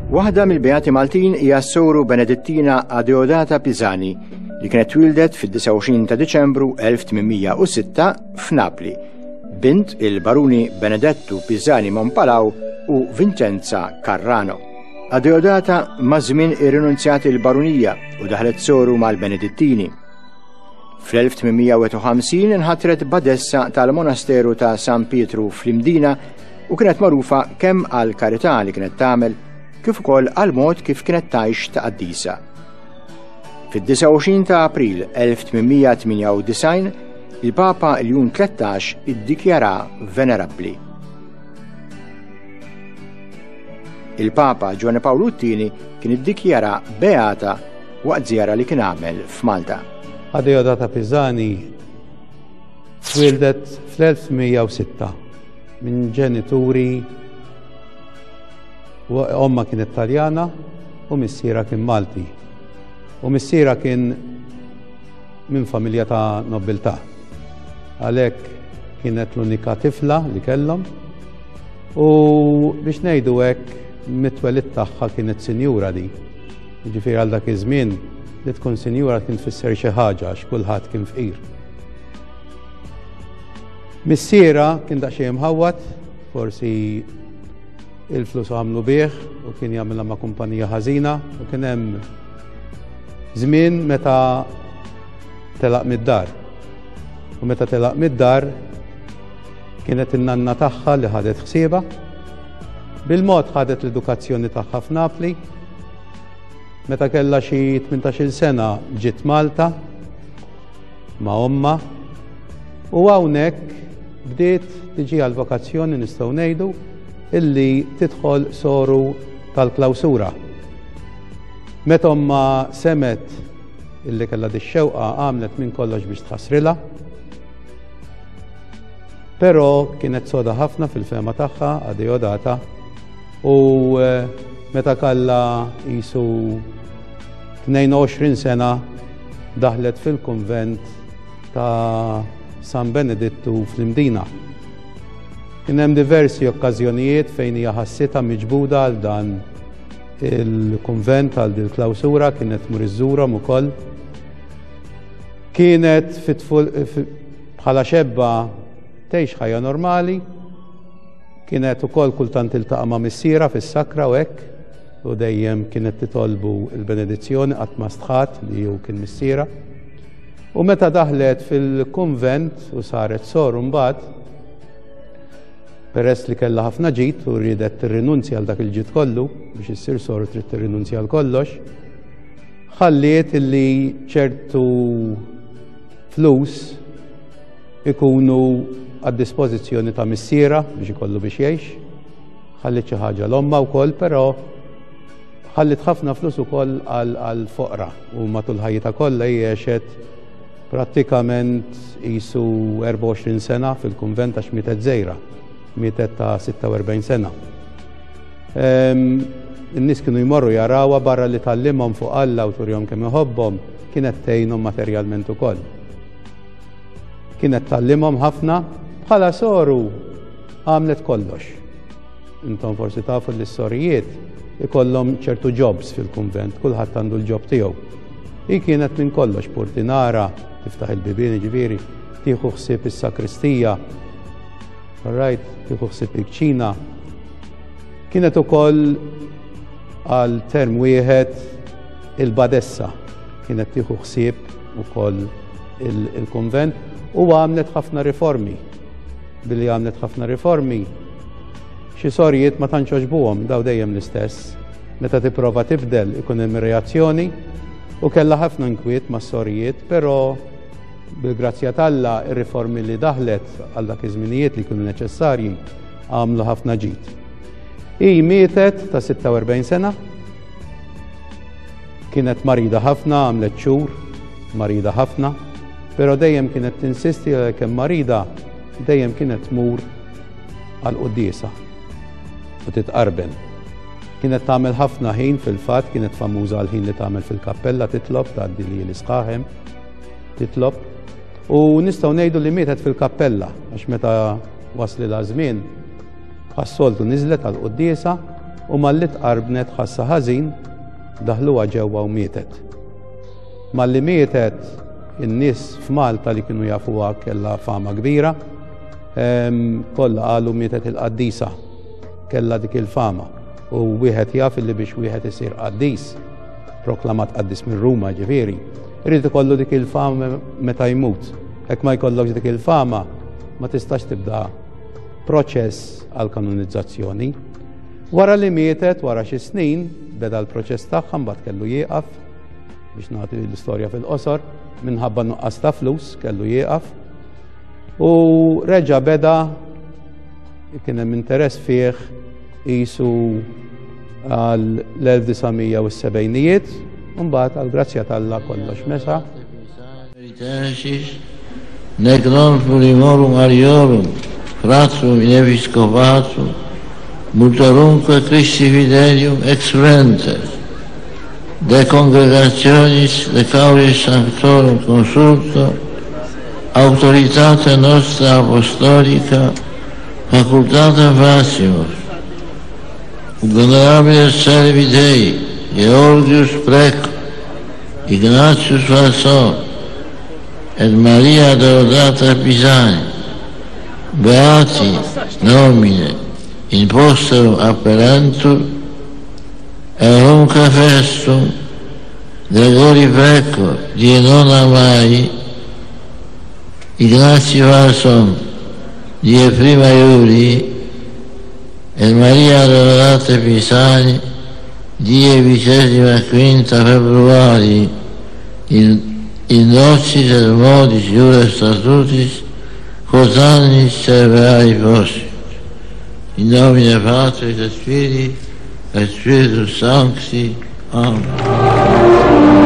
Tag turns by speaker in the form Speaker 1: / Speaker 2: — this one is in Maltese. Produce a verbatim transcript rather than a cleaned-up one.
Speaker 1: Waħda mill-Beati Maltin hija s-soru Benedittina Adeodata Pisani li kienet twildet fid-disgħa u għoxrin ta' Diċembru elf tmien mija u sitta f'Napli, bint il-baruni Benedettu Pisani Mompalaw u Vincenza Carrano. Adeodata maż-żmien irrinunzjat il-barunija u daħlet soru mal-Benedittini. Fl-elf tmien mija u wieħed u ħamsin inħatret badessa tal-monasteru ta' San Pietru fl-Imdina u kienet magħrufa kemm għal karità li kienet tagħmel kif ukoll għal mod kif kienet tgħix ta' qaddisa. Fid-disgħa u għoxrin ta' April elf tmien mija tmienja u disgħin, il-Papa Ljun tlettax iddikjara venerabbli. Il-Papa Ġwanni Pawlu t-tieni kien iddikjara beata waqt żjara li kien għamel f'Malta.
Speaker 2: Adeodata Pisani twildet fl-elf mija u sitta minn ġenituri, omma kienet Taljana u missiera kien Malti. U missiera kien minn familja ta' nobiltà. Għalhekk kienet l-unika tifla li kellhom u biex ngħidu hekk mit-twelid tagħha kienet sinjura di. Jiġifieri għal dak iż-żmien li tkun sinjura kien tfisser xi ħaġa għax kulħadd kien fqir. Missiera kien daqsxejn imħawwad, forsi il-flus għamlu bih u kien jagħmilha ma' kumpanija ħażina u kien hemm żmien meta telaq mid-dar. U meta telaq mid-dar kienet in-nanna tagħha li ħadet ħsiebha. Bil-mod ħadet l-edukazzjoni tagħha f'Napli. Meta kellha xi tmintax-il sena ġiet Malta ma' omma u hawnhekk bdiet tiġi għal-vokazzjoni nistgħu ngħidu illi tidħol soru tal-klawsura. Meta omma semet illi kellha dix-xewqa għamlet minn kollox biex tħassrilha. Però kienet soda ħafna fil-fema tagħha Adeodata u, eh, meta kellha qisu tnejn u għoxrin sena daħlet fil-kunvent ta' San Benedittu fl-Imdina. Kien hemm diversi okkażjonijiet fejn hija ħassitha miġbuda għal dan il-kunvent, għal din il-klawsura, kienet tmur iżżurhom ukoll. Kienet fit-tful, fi-, bħala xebba tgħix ħajja normali, kienet ukoll kultant tiltaqa' ma' missiera fis-sakra u hekk, u dejjem kienet titolbu l-benedizzjoni qatt ma stħat li hu kien missiera. U meta daħlet fil-kunvent u saret soru mbagħad, peress li kellha ħafna ġid u riedet tirrinunzja għal dak il-ġid kollu, biex issir soru trid tirrinunzja għal kollox, ħalliet illi ċertu flus ikunu għad-dispożizzjoni ta' missiera biex ikollu biex jgħix, ħalliet xi ħaġa l-omma wkoll, però ħalliet ħafna flus ukoll għal foqra u matul ħajjitha kollha hi għexet prattikament qisu erbgħa u għoxrin sena fil-kunvent għax mietet żgħira, mietet ta' sitta u erbgħin sena. Ehm, in-nies kienu jmorru jarawha barra li tallimhom fuq Alla u turihom kemm iħobbhom, kienet tgħinhom materjalment ukoll. Kienet tallimhom ħafna, bħala soru għamlet kollox. Intom forsi tafu li s-sorijiet ikollhom ċertu jobs fil-kunvent, kulħadd għandu l-job tiegħu. Hi kienet minn kollox, portinara, tiftaħ il-bibien, ġifieri, tieħu ħsieb is-sakristija, right, tieħu ħsieb il-kċina. Kienet ukoll għal term wieħed il-badessa, kienet tieħu ħsieb ukoll il-, il-kunvent u għamlet ħafna riformi. Billi għamlet ħafna riformi, xi sorijiet ma tantx għoġbuhom, daw dejjem l-istess. Meta tipprova tibdel ikun hemm reazzjoni u kellha ħafna inkwiet mas-sorijiet, però bil-grazzja t'Alla ir-riformi li daħlet għal dak iż-żminijiet li kienu neċessarji għamlu ħafna ġid. Hi mietet ta' sitta u erbgħin sena, kienet marida ħafna, għamlet xhur marida ħafna, però dejjem kienet tinsisti li kemm marida dejjem kienet tmur għal quddiesa u titqarben. Kienet tagħmel ħafna ħin fil-fatt, kienet famuża għal ħin li tagħmel fil-kappella, titlob, tgħaddi li l-isqaħem, titlob. U nistgħu ngħidu li mietet fil-kappella, għax meta waslilha żmien, bħas-soltu niżlet għal quddiesa U malli tqarbnet ħassa ħażin, daħluha ġewwa u mietet. Malli mietet, in-nies f'Malta li kienu jafuha kellha fama kbira, kollha qalu mietet il-qaddisa, kellha dik il-fama. U wieħed jaf li biex wieħed isir qaddis, proklamat qaddis minn Ruma ġifieri, irid ikollu dik il-fama meta jmut. Hekk ma jkollokx dik il-fama, ma tistax tibda proċess għal kanonizzazzjoni. Wara li mietet, wara xi snin, beda l-proċess tagħha, mbagħad kellu jieqaf, biex nagħti l-istorja fil-qosor, minħabba nuqqas ta' flus kellu jieqaf. U reġa' beda, kien hemm interess fih qisu għal l-elf disa' mija u s-sebgħinijiet, u mbagħad għal grazzja t'Alla kollox mesa.
Speaker 3: Nec non plurimorum ariorum, fratrum in episcopatum, multorumque Christi fidelium exulentes, de congregationis de cauris sanctorum consulto, autoritate nostra apostolica, facultatem facimus, honorabile servi Dei, Georgius Preco, Ignatius Falsone, et Maria Deodata Pisani, beati nomine in posterum apperentur, erumque festum, Gregori Preco, die nona mai, Ignatius Falsone, die prima Iulii, et Maria Deodata Pisani, die vicesima quinta februari, in in nocis et modis iure statutis, quod annis serverai possit. In nomine Patris et Filii et Spiritus Sancti. Amen.